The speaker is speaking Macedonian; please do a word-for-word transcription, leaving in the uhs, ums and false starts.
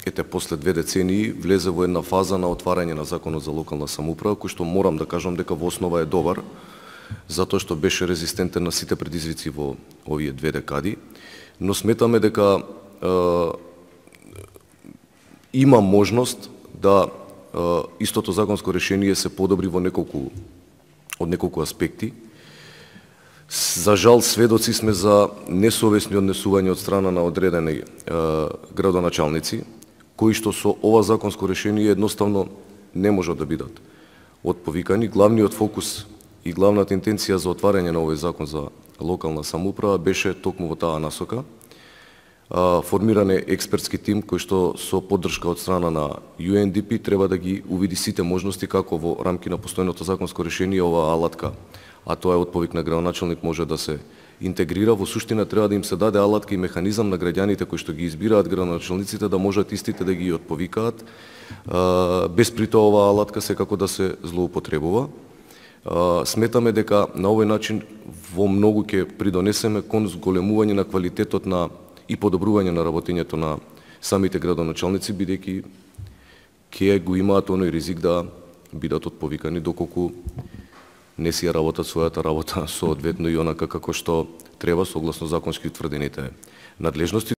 ете после две децении влезе во една фаза на отварање на законот за локална самоуправа, кој што морам да кажам дека во основа е добар, затоа што беше резистентен на сите предизвици во овие две декади, но сметаме дека е, има можност да е, истото законско решение се подобри во неколку од неколку аспекти. За жал, сведоци сме за несовесни однесувања од страна на одредени е, градоначалници, кои што со ова законско решение едноставно не можат да бидат отповикани. Главниот фокус и главната интенција за отварање на овој закон за локална самоуправа беше токму во таа насока. Формиран е експертски тим кој што со поддршка од страна на Ю Ен Ди Пи треба да ги увиди сите можности како во рамки на постојното законско решение оваа алатка, а тоа е отповик на градоначалник, може да се интегрира. Во суштина треба да им се даде алатка и механизам на граѓаните кои што ги избираат градоначалниците да можат истите да ги отповикаат, без при тоа оваа алатка секако да се злоупотребува. Сметаме дека на овој начин во многу ќе придонесеме кон зголемување на квалитетот на и подобрување на работењето на самите градоначалници, бидејќи ќе го имаат оној ризик да бидат отповикани доколку не си ја работат својата работа соодветно и онака како што треба согласно законски утврдените надлежности.